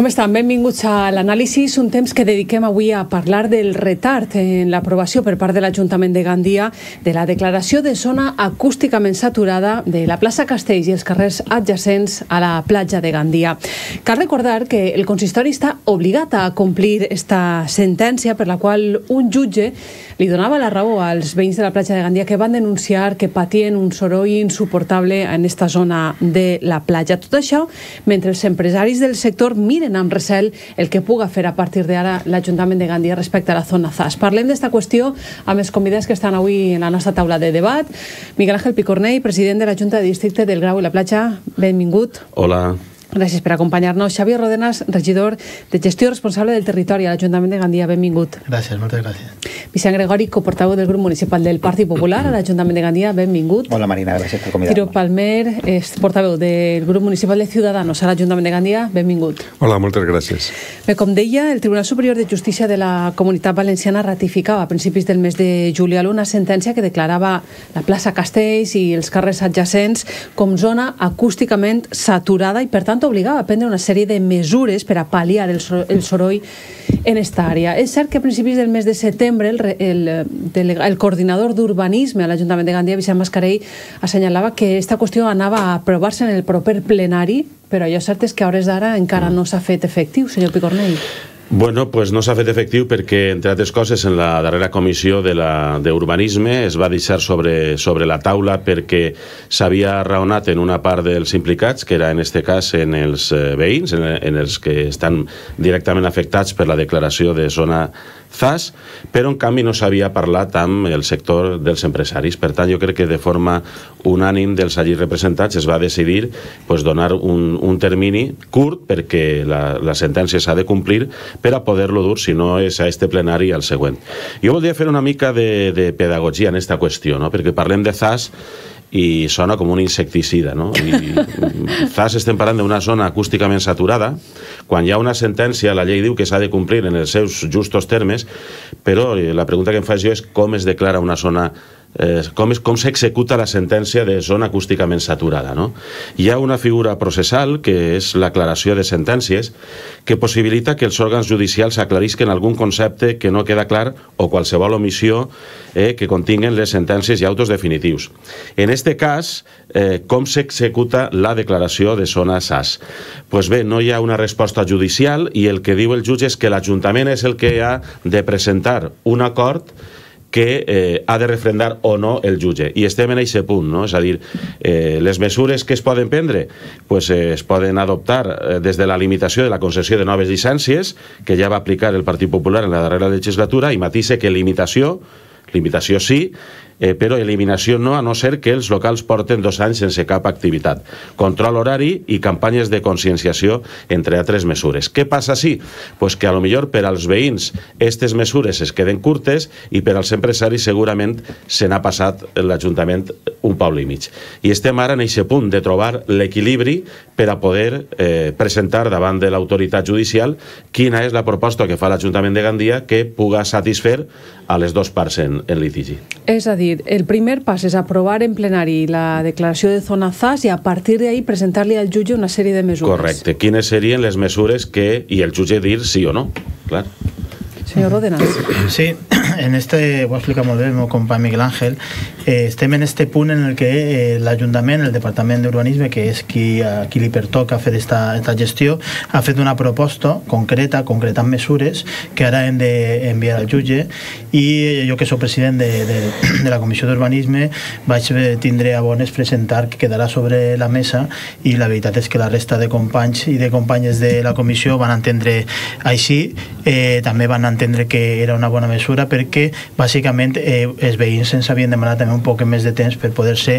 Com estan? Benvinguts a l'anàlisis, un temps que dediquem avui a parlar del retard en l'aprovació per part de l'Ajuntament de Gandia de la declaració de zona acústicament saturada de la plaça Castells i els carrers adjacents a la platja de Gandia. Cal recordar que el consistori està obligat a complir esta sentència per la qual un jutge li donava la raó als veïns de la platja de Gandia que van denunciar que patien un soroll insuportable en esta zona de la platja. Tot això mentre els empresaris del sector miren amb recel el que puga fer a partir d'ara l'Ajuntament de Gandia respecte a la zona ZAS. Parlem d'esta qüestió amb els convidats que estan avui en la nostra taula de debat. Miguel Ángel Picornell, president de la Junta de Districte del Grau i la Platja, benvingut. Hola. Gràcies per acompanyar-nos. Xavier Rodenas, regidor de Gestió Responsable del Territori a l'Ajuntament de Gandia, benvingut. Gràcies, moltes gràcies. Vicent Gregori, coportaveu del grup municipal del Partit Popular a l'Ajuntament de Gandia, benvingut. Hola Marina, gràcies per convidar-nos. Tiro Palmer, és portaveu del grup municipal de Ciudadanos a l'Ajuntament de Gandia, benvingut. Hola, moltes gràcies. Bé, com deia, el Tribunal Superior de Justícia de la Comunitat Valenciana ratificava a principis del mes de juliol una sentència que declarava la plaça Castells i els carrers adjacents com zona acústicament saturada i, per tant, obligava a prendre una sèrie de mesures per a pal·liar el soroll en esta àrea. És cert que a principis del mes de setembre el coordinador d'urbanisme a l'Ajuntament de Gandia, Vicent Mascarell, assenyalava que aquesta qüestió anava a aprovar-se en el proper plenari, però allò cert és que a hores d'ara encara no s'ha fet efectiu, senyor Picornell. Bueno, pues no s'ha fet efectiu perquè, entre altres coses, en la darrera comissió d'urbanisme es va deixar sobre la taula perquè s'havia raonat en una part dels implicats, que era en este cas en els veïns, en els que estan directament afectats per la declaració de zona ZAS, però en canvi no s'havia parlat amb el sector dels empresaris. Per tant, jo crec que de forma unànime dels allí representats es va decidir donar un termini curt perquè la sentència s'ha de complir per a poder-lo dur, si no és a este plenari, al següent. Jo voldria fer una mica de pedagogia en aquesta qüestió, no? Perquè parlem de ZAS i sona com un insecticida, no? I ZAS estem parlant d'una zona acústicament saturada. Quan hi ha una sentència, la llei diu que s'ha de complir en els seus justos termes, però la pregunta que em faig jo és com es declara una zona, com s'executa la sentència de zona acústicament saturada, no? Hi ha una figura processal, que és l'aclaració de sentències, que possibilita que els òrgans judicials aclarisquen algun concepte que no queda clar o qualsevol omissió que continguen les sentències i autos definitius. En este cas, com s'executa la declaració de zona ZAS? Pues bé, no hi ha una resposta judicial i el que diu el jutge és que l'Ajuntament és el que ha de presentar un acord que ha de refrendar o no el jutge. I estem en aquest punt, no? És a dir, les mesures que es poden prendre es poden adoptar des de la limitació de la concessió de noves llicències, que ja va aplicar el Partit Popular en la darrera legislatura, i matisa que limitació sí, però eliminació no, a no ser que els locals porten 2 anys sense cap activitat. Control horari i campanyes de conscienciació, entre altres mesures. Què passa sí? Pues que a lo millor per als veïns aquestes mesures es queden curtes i per als empresaris segurament se n'ha passat l'Ajuntament un poble i mig. I estem ara en aquest punt de trobar l'equilibri per a poder presentar davant de l'autoritat judicial quina és la proposta que fa l'Ajuntament de Gandia que puga satisfer a les dues parts en litigi. És a dir, el primer pas és aprovar en plenari la declaració de zona ZAS i a partir d'ahí presentar-li al jutge una sèrie de mesures. Correcte. Quines serien les mesures que... i el jutge dir sí o no, clar. Senyor Rodenas. Sí, ho explica molt bé el meu company Miguel Ángel. Estem en este punt en el que l'Ajuntament, el Departament d'Urbanisme, que és a qui li pertoca fer esta gestió, ha fet una proposta concretant mesures que ara hem d'enviar al jutge, i jo, que soc president de la Comissió d'Urbanisme, vaig tindre a bones presentar que quedarà sobre la mesa, i la veritat és que la resta de companys i de companyes de la comissió van entendre així. També van entendre que era una bona mesura perquè bàsicament els veïns ens havien demanat també un poc més de temps per poder-se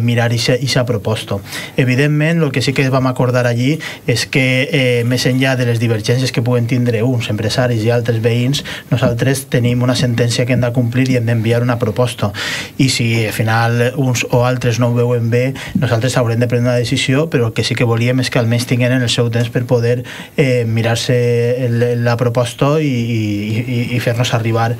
mirar aquesta proposta. Evidentment, el que sí que vam acordar allí és que més enllà de les divergències que puguen tindre uns empresaris i altres veïns, nosaltres tenim una sentència que hem de complir i hem d'enviar una proposta, i si al final uns o altres no ho veuen bé, nosaltres haurem de prendre una decisió, però el que sí que volíem és que almenys tinguin el seu temps per poder mirar-se la proposta i fer-nos arribar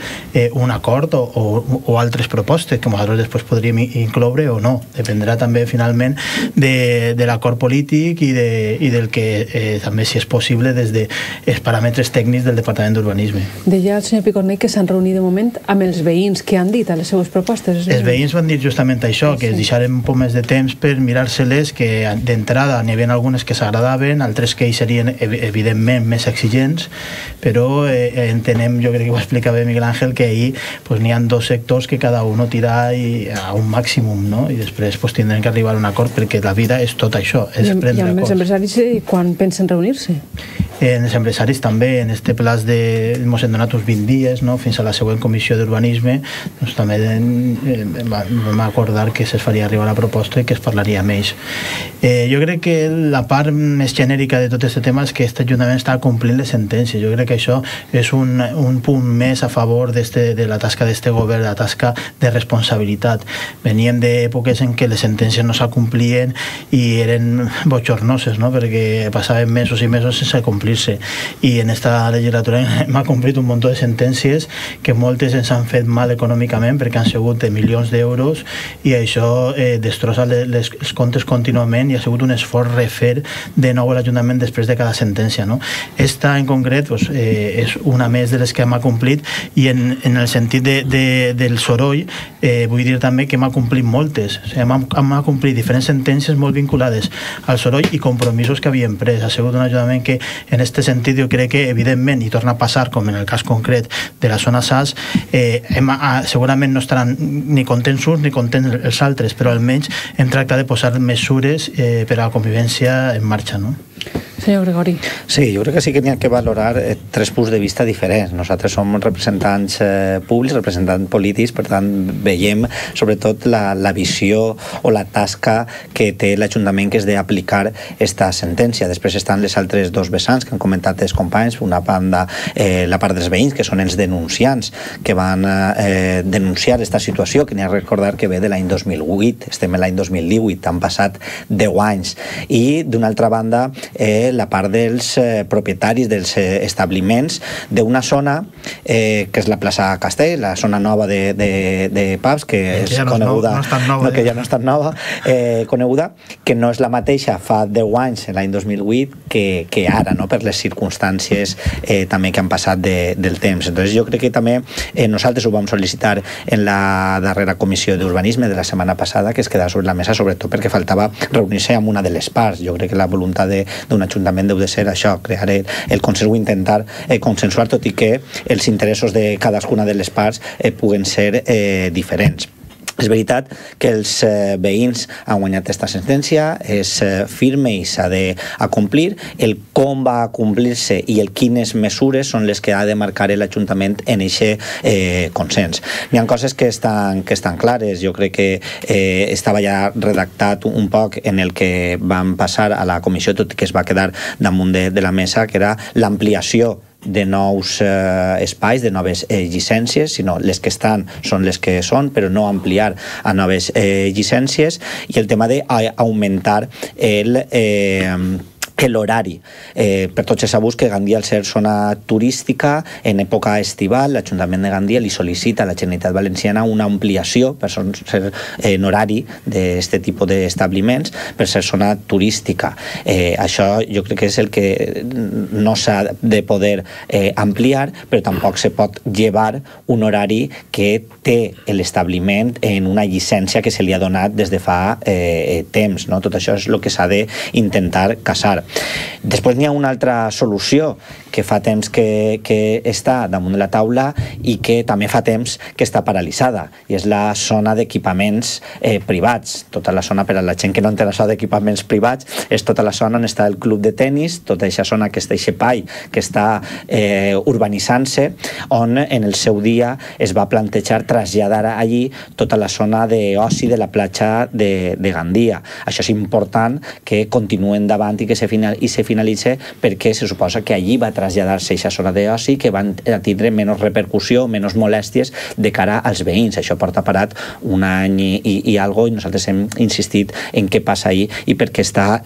un acord o altres propostes que nosaltres després podríem incloure o no. Dependrà també finalment de l'acord polític i del que també, si és possible, des dels paràmetres tècnics del Departament d'Urbanisme. Deia el senyor Picornell que s'han reunit de moment amb els veïns. Què han dit a les seves propostes? Els veïns van dir justament això, que es deixarem un poc més de temps per mirar-se-les, que d'entrada n'hi havia algunes que s'agradaven, altres que hi serien evidentment més exigents, però entenem, jo crec que ho explicava Miguel Ángel, que ahir n'hi ha dos sectors que cada un tira a un màximum, no? I després tindrem que arribar a un acord, perquè la vida és tot això, és prendre acords. I amb els empresaris quan pensen reunir-se? Els empresaris també, en este plaç ens hem donat uns 20 dies, no? Fins a la següent comissió d'urbanisme, doncs també vam acordar que se'ls faria arribar la proposta i que es parlaria amb ells. Jo crec que la part més genèrica de tot aquest tema és que aquest Ajuntament està complint les sentències. Jo crec que això és un punt més a favor de la tasca d'aquest govern, la tasca de responsabilitat. Veníem d'èpoques en què les sentències no s'acomplien i eren bochornoses, no? Perquè passaven mesos i mesos sense complir-se. I en esta legislatura hem acomplit un munt de sentències que moltes ens han fet mal econòmicament perquè han sigut de milions d'euros i això destrossa els comptes contínuament i ha sigut un esforç refer de nou a l'Ajuntament després de cada sentència, no? Esta en concret és una més de les que hem acomplit i en el sentit del soroll vull dir també que hem acomplit moltes. Hem acomplit diferents sentències molt vinculades al soroll i compromisos que havíem pres. Ha sigut un Ajuntament que en aquest sentit jo crec que evidentment, i torna a passar com en el cas concret de la zona SAS, segurament no estaran ni contents uns ni contents els altres, però almenys hem tractat de posar mesures per a la convivència en marxa, no? Senyor Gregori. Sí, jo crec que sí que n'hi ha que valorar tres punts de vista diferents. Nosaltres som representants públics, representants polítics, per tant veiem sobretot la visió o la tasca que té l'Ajuntament, que és d'aplicar esta sentència. Després estan les altres dos vessants que han comentat els companys, una banda la part dels veïns, que són els denunciants que van denunciar aquesta situació, que n'hi ha a recordar que ve de l'any 2008, estem en l'any 2018, han passat 10 anys. I d'una altra banda la part dels propietaris dels establiments d'una zona que és la plaça Castell, la zona nova de pubs, que és coneguda, que ja no és tan nova, coneguda, que no és la mateixa fa 10 anys, l'any 2008, que ara, no? Per les circumstàncies també que han passat del temps. Entonces jo crec que també nosaltres ho vam sol·licitar en la darrera comissió d'urbanisme de la setmana passada, que es quedava sobre la mesa, sobretot perquè faltava reunir-se amb una de les parts. Jo crec que la voluntat d'un Ajuntament deu de ser això, crear el consens o intentar consensuar, tot i que els interessos de cadascuna de les parts puguen ser diferents. És veritat que els veïns han guanyat aquesta sentència, és firme i s'ha d'acomplir. El com va acomplir-se i el quines mesures són les que ha de marcar l'Ajuntament en aquest consens. Hi ha coses que estan clares. Jo crec que estava ja redactat un poc en el que vam passar a la comissió, tot i que es va quedar damunt de la mesa, que era l'ampliació de nous espais, de noves llicències, sinó les que estan són les que són, però no ampliar a noves llicències, i el tema d'augmentar l'horari. Per tots és sabut que Gandia, al ser zona turística, en època estival, l'Ajuntament de Gandia li sol·licita a la Generalitat Valenciana una ampliació per ser en horari d'aquest tipus d'establiments, per ser zona turística. Això jo crec que és el que no s'ha de poder ampliar, però tampoc se pot llevar un horari que té l'establiment en una llicència que se li ha donat des de fa temps. Tot això és el que s'ha d'intentar casar. Després n'hi ha una altra solució que fa temps que està damunt de la taula i que també fa temps que està paralitzada, i és la zona d'equipaments privats. Tota la zona, per a la gent que no entén això d'equipaments privats, és tota la zona on està el club de tenis, tota aquesta zona que està espai, que està urbanitzant-se, on en el seu dia es va plantejar traslladar allí tota la zona d'oci de la platja de Gandia. Això és important que continuï endavant i que se finalitzi, perquè se suposa que allí va traslladar-se a aquesta zona d'oci, que van tindre menys repercussió, menys molèsties de cara als veïns. Això porta parat un any i algo, i nosaltres hem insistit en què passa ahir i per què està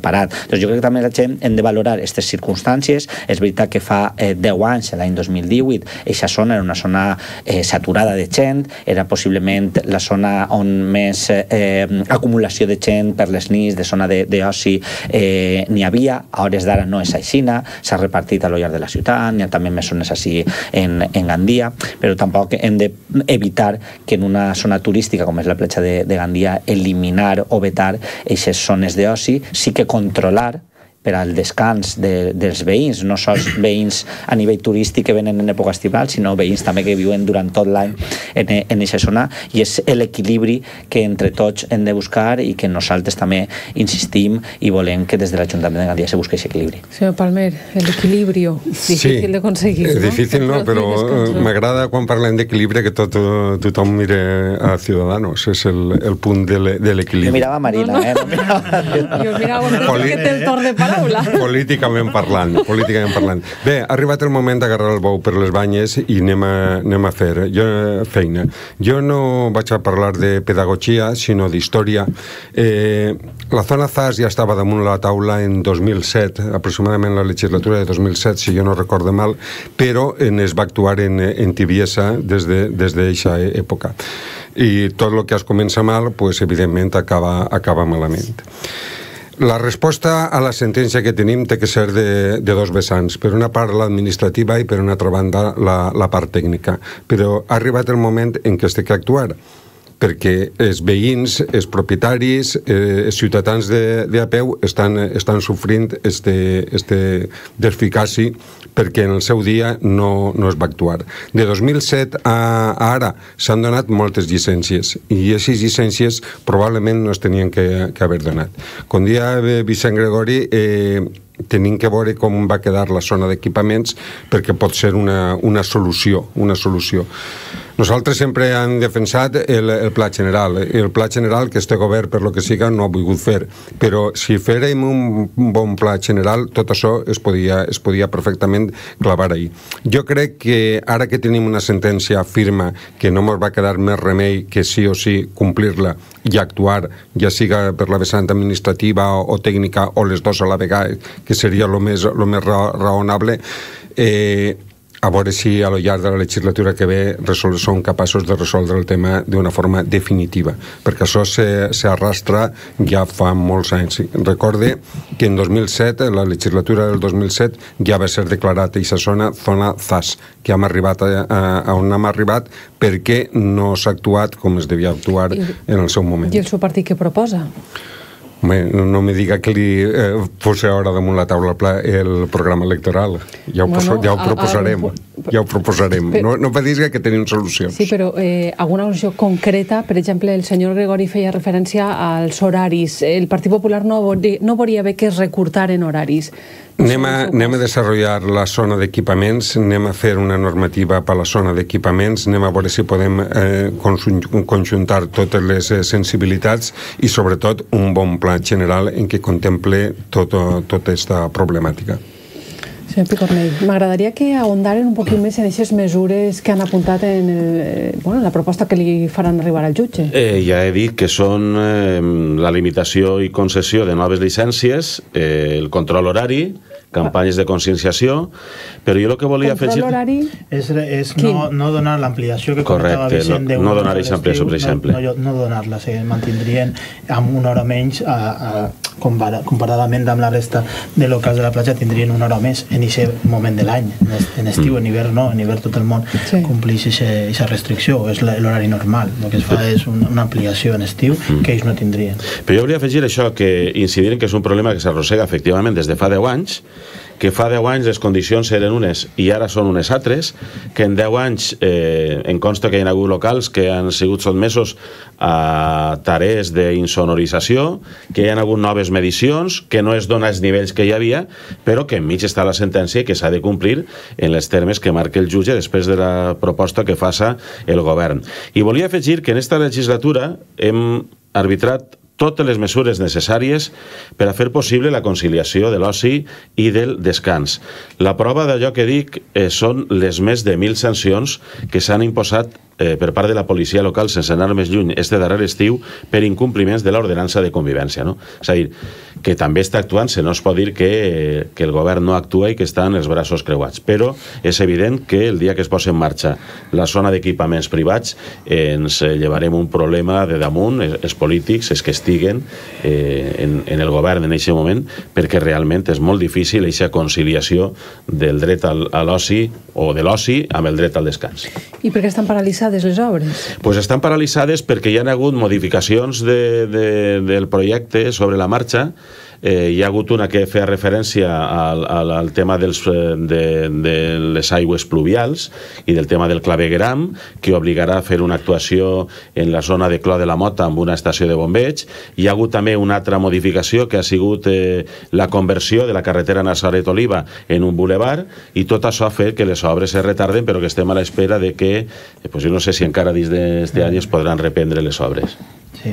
parat. Doncs jo crec que també la gent hem de valorar aquestes circumstàncies. És veritat que fa 10 anys, l'any 2018, aquesta zona era una zona saturada de gent, era possiblement la zona on més acumulació de gent per les nits, de zona d'oci n'hi havia. A hores d'ara no és aixina, s'ha repartit a lo llarg de la ciutat, n'hi ha també més zones així en Gandia, però tampoc hem d'evitar que en una zona turística com és la platja de Gandia eliminar o vetar aquestes zones d'oci, sí que controlar per al descans dels veïns, no sols veïns a nivell turístic que venen en època estival, sinó veïns també que viuen durant tot l'any en aquesta zona, i és l'equilibri que entre tots hem de buscar i que nosaltres també insistim i volem que des de l'Ajuntament de Gandia se busqui aquest equilibri. Senyor Palmer, l'equilibri, difícil de conseguir, no? Difícil no, però m'agrada quan parlem d'equilibri que tothom mire a Ciudadanos, és el punt de l'equilibri. Jo mirava Marina, Jo mirava que té el torn de paraula. Políticament parlant. Bé, ha arribat el moment d'agarrar el bou per les banyes i anem a fer feina. Jo no vaig a parlar de pedagogia, sinó d'història. La zona ZAS ja estava damunt la taula en 2007, aproximadament la legislatura de 2007, si jo no recordo mal, però es va actuar en tibiesa des d'aquesta època. I tot el que es comença mal, pues, evidentment, acaba malament. La resposta a la sentència que tenim té que ser de dos vessants. Per una part l'administrativa i per una altra banda la part tècnica. Però ha arribat el moment en què es té que actuar, perquè els veïns, els propietaris, els ciutadans de a peu estan sofrint este desficaci perquè en el seu dia no es va actuar. De 2007 a ara s'han donat moltes llicències i aquestes llicències probablement no es tenien que haver donat. Com dia Vicent Gregori, tenim que veure com va quedar la zona d'equipaments perquè pot ser una solució. Nosaltres sempre hem defensat el pla general. El pla general que este govern, per lo que siga, no ha volgut fer. Però si fèrem un bon pla general, tot això es podia perfectament clavar ahí. Jo crec que ara que tenim una sentència firma que no ens va quedar més remei que sí o sí complir-la i actuar, ja siga per la vessant administrativa o tècnica o les dues a la vegada, que seria el més raonable, a veure si a lo llarg de la legislatura que ve són capaços de resoldre el tema d'una forma definitiva, perquè això s'arrastra ja fa molts anys. Recorde que en 2007, la legislatura del 2007, ja va ser declarat aquesta zona ZAS, que hem arribat a on hem arribat perquè no s'ha actuat com es devia actuar en el seu moment. I el seu partit què proposa? No me diga que li posa ara damunt la taula el programa electoral. Ja ho proposarem. No va dir que tenim solucions. Sí, però alguna solució concreta, per exemple, el senyor Gregori feia referència als horaris. El Partit Popular no volia bé que es recortaren horaris. Anem a desenvolupar la zona d'equipaments, anem a fer una normativa per a la zona d'equipaments, anem a veure si podem conjuntar totes les sensibilitats i sobretot un bon pla general en què contemple tota aquesta problemàtica. Senyor Picornell, m'agradaria que ahondaren un poquit més en aquestes mesures que han apuntat en la proposta que li faran arribar al jutge. Ja he dit que són la limitació i concessió de noves llicències, el control horari, campanyes de conscienciació, però jo el que volia afegir... Control horari? És no donar l'ampliació que comentava Vicent. Correcte, no donar aquesta ampliació, per exemple. No donar-la, se mantindrien amb una hora menys, comparadament amb la resta de locals de la platja, tindrien una hora més en aquest moment de l'any. En estiu, en hivern no, en hivern tot el món compleix aquesta restricció, és l'horari normal. El que es fa és una ampliació en estiu que ells no tindrien. Però jo volia afegir això, que incidir que és un problema que s'arrossega efectivament des de fa 10 anys, que fa 10 anys les condicions eren unes i ara són unes altres, que en 10 anys em consta que hi ha hagut locals que han sigut sotmesos a tarees d'insonorització, que hi ha hagut noves medicions, que no es dona els nivells que hi havia, però que enmig està la sentència i que s'ha de complir en els termes que marca el jutge després de la proposta que faça el govern. I volia afegir que en esta legislatura hem arbitrat totes les mesures necessàries per a fer possible la conciliació de l'oci i del descans. La prova d'allò que dic són les més de 1.000 sancions que s'han imposat per part de la policia local, sense anar més lluny, este darrer estiu, per incompliments de l'ordenança de convivència. No? És a dir, que també està actuant, no es pot dir que el govern no actua i que està en els braços creuats, però és evident que el dia que es posi en marxa la zona d'equipaments privats ens llevarem un problema de damunt, els polítics, els que estiguen en el govern en aquest moment, perquè realment és molt difícil aquesta conciliació del dret a l'oci o de l'oci amb el dret al descans. I per què estan paralitzades les obres? Pues estan paralitzades perquè hi ha hagut modificacions del projecte sobre la marxa. Hi ha hagut una que feia referència al tema de les aigües pluvials i del tema del clavegueram, que obligarà a fer una actuació en la zona de Clot de la Mota amb una estació de bombeig. Hi ha hagut també una altra modificació que ha sigut la conversió de la carretera Nazaret-Oliva en un boulevard, i tot això ha fet que les obres es retarden, però que estem a l'espera de que, jo no sé si encara dins d'aquest any es podran reprendre les obres. Sí,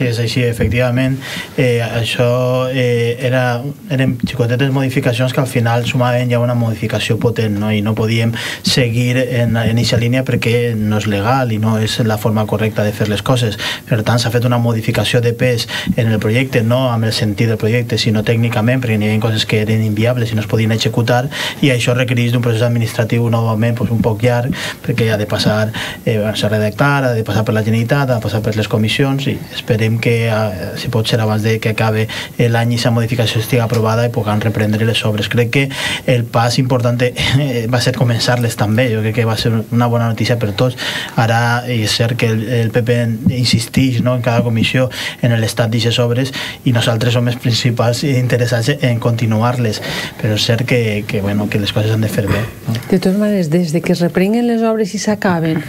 és així, efectivament. Això eren xicotetes modificacions que al final sumaven ja una modificació potent, no? I no podíem seguir en aquesta línia perquè no és legal i no és la forma correcta de fer les coses. Per tant, s'ha fet una modificació de pes en el projecte, no amb el sentit del projecte, sinó tècnicament, perquè hi havia coses que eren inviables i no es podien executar, i això requereix d'un procés administratiu novament un poc llarg, perquè ha de passar a redactar, ha de passar per la Generalitat, ha de passar per les comissions, i esperem que, si pot ser abans de que acabe l'any, aquesta modificació estigui aprovada i puguem reprendre les obres. Crec que el pas important va ser començar-les també. Jo crec que va ser una bona notícia per tots. Ara és cert que el PP insisteix, no, en cada comissió en l'estat d'aquestes obres, i nosaltres som els principals interessats en continuar-les, però és cert que les coses han de fer bé, no? De totes maneres, des de que es reprenguen les obres i s'acaben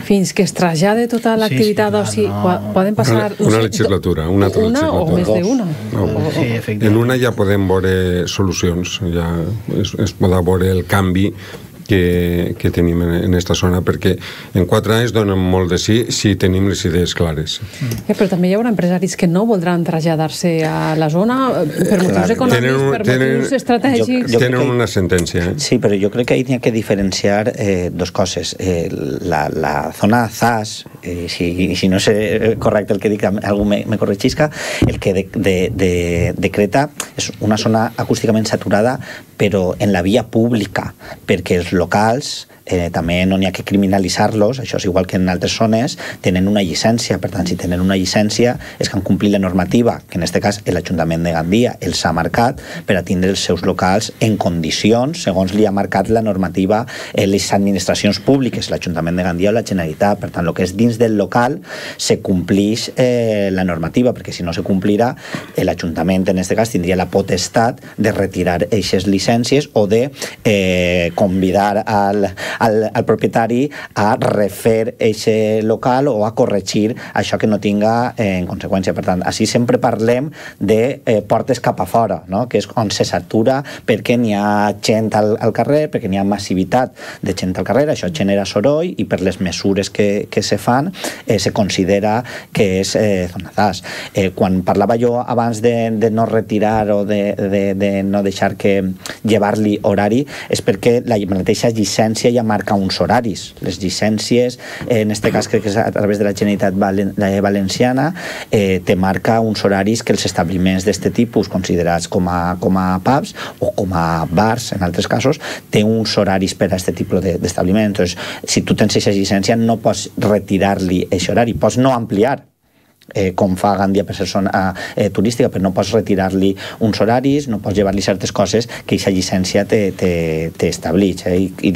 fins que es trasllada tota l'activitat d'oci, poden passar una legislatura, una altra legislatura. O més d'una. En una ja podem veure solucions, ja es podrà veure el canvi que tenim en aquesta zona, perquè en 4 anys donen molt de sí si tenim les idees clares. Però també hi haurà empresaris que no voldran traslladar-se a la zona per motius econòmics, per motius estratègics. Tenen una sentència. Sí, però jo crec que hi ha que diferenciar dos coses. La zona ZAS, si no és correcte el que dic, algú me corregisca, el que decreta és una zona acústicament saturada, però en la via pública, perquè els locals també no n'hi ha que criminalitzar-los, això és igual que en altres zones, tenen una llicència. Per tant, si tenen una llicència és que han complit la normativa, que en aquest cas l'Ajuntament de Gandia els ha marcat per a tindre els seus locals en condicions, segons li ha marcat la normativa les administracions públiques, l'Ajuntament de Gandia o la Generalitat. Per tant, el que és dins del local se complix la normativa, perquè si no se complirà, l'Ajuntament en aquest cas tindria la potestat de retirar aquestes llicències o de convidar al propietari a refer aquest local o a corregir això que no tinga en conseqüència. Per tant, així sempre parlem de portes cap a fora, no? Que és on se satura perquè n'hi ha gent al carrer, perquè n'hi ha massivitat de gent al carrer, això genera soroll i per les mesures que se fan se considera que és zona ZAS. Quan parlava jo abans de no retirar o de no deixar que llevar-li horari, és perquè la mateixa llicència ja marca uns horaris. Les llicències, en aquest cas crec que és a través de la Generalitat Valenciana, te marca uns horaris que els establiments d'aquest tipus, considerats com a pubs o com a bars, en altres casos, té uns horaris per a aquest tipus d'establiments. Entonces, si tu tens aquesta llicència, no pots retirar-li aquest horari, pots no ampliar, com fa Gandia per ser zona turística, però no pots retirar-li uns horaris, no pots llevar-li certes coses que aquesta llicència t'estableix. I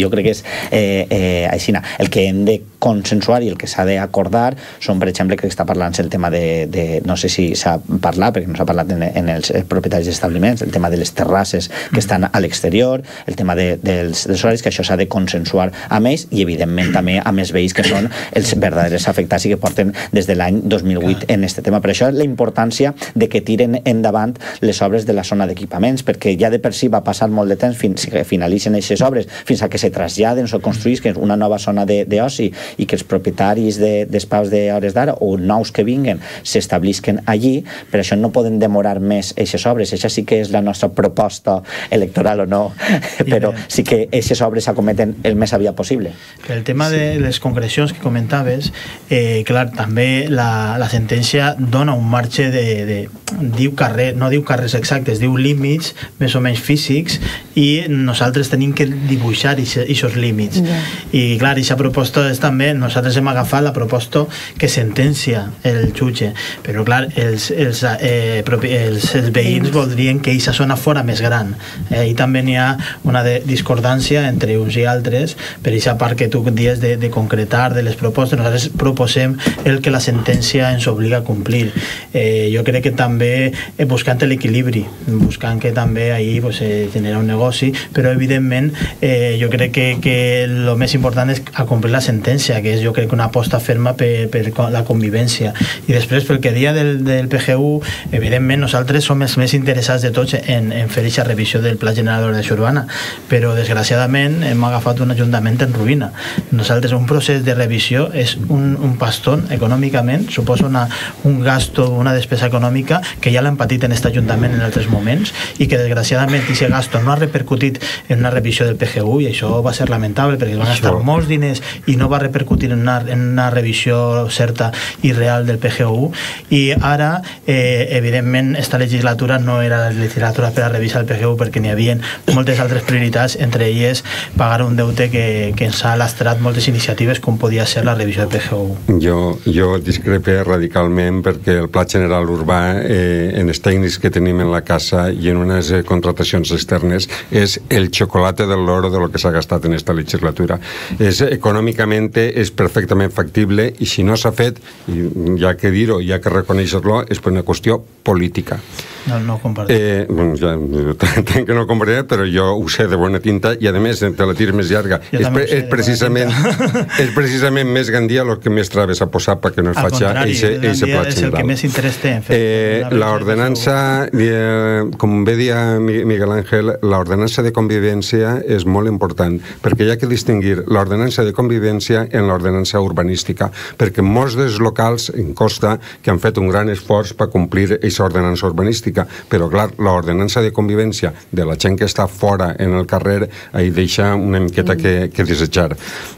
jo crec que és així. El que hem de consensuar i el que s'ha d'acordar són, per exemple, crec que està parlant el tema no sé si s'ha parlat, perquè no s'ha parlat en els propietaris d'establiments, el tema de les terrasses que estan a l'exterior, el tema dels horaris, que això s'ha de consensuar amb ells i, evidentment, també amb els veïns que són els verdaders afectats i que porten des de l'any 2008 en aquest tema. Per això la importància de que tiren endavant les obres de la zona d'equipaments, perquè ja de per si va passar molt de temps fins que finalitzen aquestes obres, fins a que se traslladen o construïsquen una nova zona d'oci i que els propietaris d'espais d'hores d'ara o nous que vinguen s'establisquen allí, per això no poden demorar més aquestes obres. Això sí que és la nostra proposta electoral o no, però sí que aquestes obres s'acometen el més aviat possible. El tema de les concrecions que comentaves, clar, també la sentència dona un marge diu carrer, no diu carrers exactes, diu límits més o menys físics, i nosaltres tenim que dibuixar aquests límits. I clar, aquesta proposta és també, nosaltres hem agafat la proposta que sentencia el jutge, però clar, els veïns voldrien que aquesta zona fora més gran, i també n'hi ha una discordància entre uns i altres per aquesta part que tu dius de concretar de les propostes. Nosaltres proposem el que la sentència ens obliga a complir. Jo crec que també buscant l'equilibri, buscant que també ahir genera un negoci, però evidentment jo crec que el més important és acomplir la sentència, que és jo crec que una aposta ferma per la convivència. I després, pel que dia del PGU, evidentment nosaltres som els més interessats de tots en fer aquesta revisió del Pla General d'Ordenació Urbana, però desgraciadament hem agafat un ajuntament en ruïna. Nosaltres, un procés de revisió és un pastón econòmicament, suposa un gasto, una despesa econòmica que ja l'hem patit en aquest ajuntament en altres moments, i que desgraciadament aquest gasto no ha repercutit en una revisió del PGU, i això va ser lamentable perquè van gastar molts diners i no va repercutir en una revisió certa i real del PGU. I ara evidentment esta legislatura no era la legislatura per a revisar el PGU, perquè n'hi havia moltes altres prioritats, entre elles pagar un deute que ens ha lastrat moltes iniciatives com podia ser la revisió del PGU. Jo discrepe radicalment, perquè el Pla General Urbà en els tècnics que tenim en la casa i en unes contratacions externes és el xocolate del loro de lo que s'ha gastat en esta legislatura. Econòmicament és perfectament factible, i si no s'ha fet, hi ha que dir-ho, hi ha que reconèixer-lo, és per una qüestió política. No compartiré. Tenc que no compartiré, però jo ho sé de bona tinta, i a més te la tires més llarga. És precisament més Gandia el que més traves a posar perquè no es faci eixe pla general. És el que més interès té en fer. L'ordenança, com bé dia Miguel Ángel, l'ordenança de convivència és molt important, perquè hi ha que distingir l'ordenança de convivència en l'ordenança urbanística, perquè molts dels locals em consta que han fet un gran esforç per complir aquesta ordenança urbanística, però clar, l'ordenança de convivència de la gent que està fora en el carrer ahí deixa una miqueta que desitjar,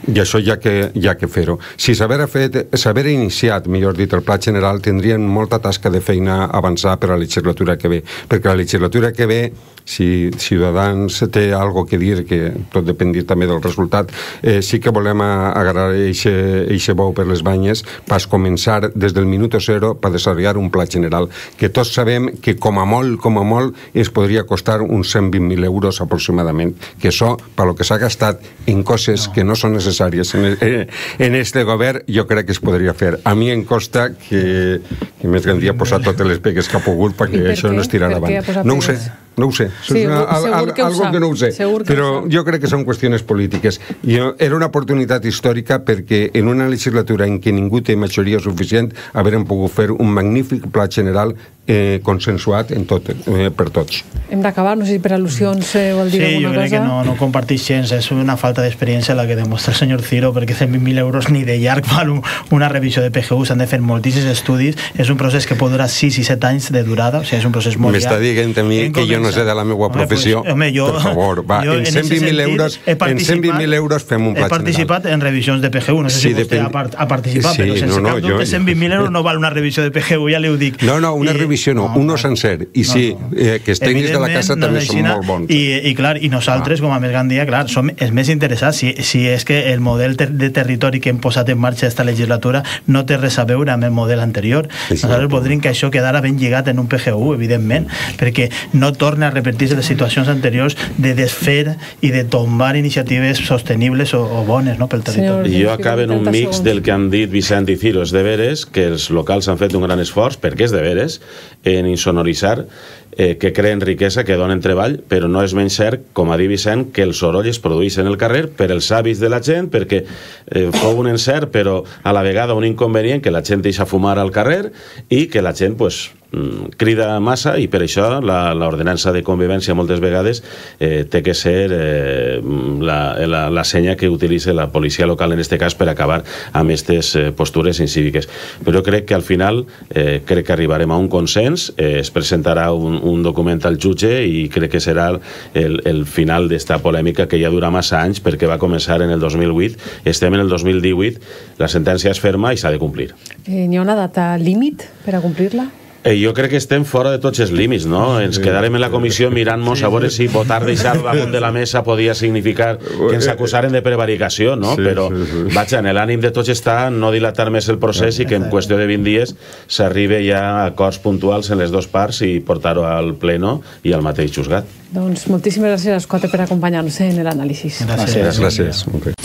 i això hi ha que fer-ho. Si s'haver iniciat, millor dit, el Pla General, tindrien molta tasca de feina a avançar per a la legislatura que ve, perquè la legislatura que ve, si Ciutadans té algo que dir, que tot depèn també del resultat, sí que volem agarrar eixe bou per les banyes per començar des del minut zero per desenvolupar un pla general, que tots sabem que com a molt es podria costar uns 120.000 euros aproximadament, que això, per lo que s'ha gastat en coses que no són necessàries en este govern, jo crec que es podria fer. A mi em costa que més Gandia ha posat totes les pegues que ha pogut perquè això no es tira endavant. No ho sé. Sí, algo que no ho sé. Però jo crec que són qüestions polítiques. Era una oportunitat històrica perquè en una legislatura en què ningú té majoria suficient haurem pogut fer un magnífic pla general consensuat per tots. Hem d'acabar, no sé si per al·lusions vol dir alguna cosa. Sí, jo crec que no comparteix gens, és una falta d'experiència la que demostra el senyor Ciro, perquè 120.000 euros ni de llarg val una revisió de PGU, s'han de fer moltíssims estudis, és un procés que pot durar 6 i 7 anys de durada, o sigui, és un procés molt llarg. M'està dient a mi que jo no sé de la meva professió, per favor, va, en 120.000 euros fem un pla general. He participat en revisions de PGU, no sé si vostè ha participat, però sense cap dubte 120.000 euros no val una revisió de PGU, ja li ho dic. No, una revisió no, uno sencer, i sí, que els tècnics de la casa també són molt bons. I clar, i nosaltres, com a més Gandia, clar, som els més interessats, si és que el model de territori que hem posat en marxa aquesta legislatura no té res a veure amb el model anterior. Nosaltres voldríem que això quedara ben lligat en un PGU, evidentment, perquè no torna a repetir-se les situacions anteriors de desfer i de tombar iniciatives sostenibles o bones pel territori. Jo acabo en un mix del que han dit Vicent i Ciro. És de veres que els locals han fet un gran esforç, perquè és de veres, en insonoritzar, que creen riquesa, que donen treball, però no és menys cert, com ha dit Vicent, que el soroll es produeix en el carrer per els hàbits de la gent, perquè fou un encert, però a la vegada un inconvenient, que la gent deixa fumar al carrer i que la gent crida massa i per això l'ordenança de convivència moltes vegades té que ser la senya que utilitza la policia local en aquest cas per acabar amb aquestes postures incíviques. Però crec que al final crec que arribarem a un consens, es presentarà un document al jutge i crec que serà el final d'esta polèmica que ja dura massa anys perquè va començar en el 2008, estem en el 2018, la sentència és ferma i s'ha de complir. N'hi ha una data límit per a complir-la? Jo crec que estem fora de tots els límits, no? Ens quedarem en la comissió mirant-nos a veure si votar deixar damunt de la mesa podia significar que ens acusaren de prevaricació, no? Però, vaja, en l'ànim de tots està no dilatar més el procés i que en qüestió de 20 dies s'arribe ja a acords puntuals en les dues parts i portar-ho al pleno i al mateix juzgat. Doncs moltíssimes gràcies, Escote, per acompanyar-nos en l'anàlisi. Gràcies. Gràcies. Okay.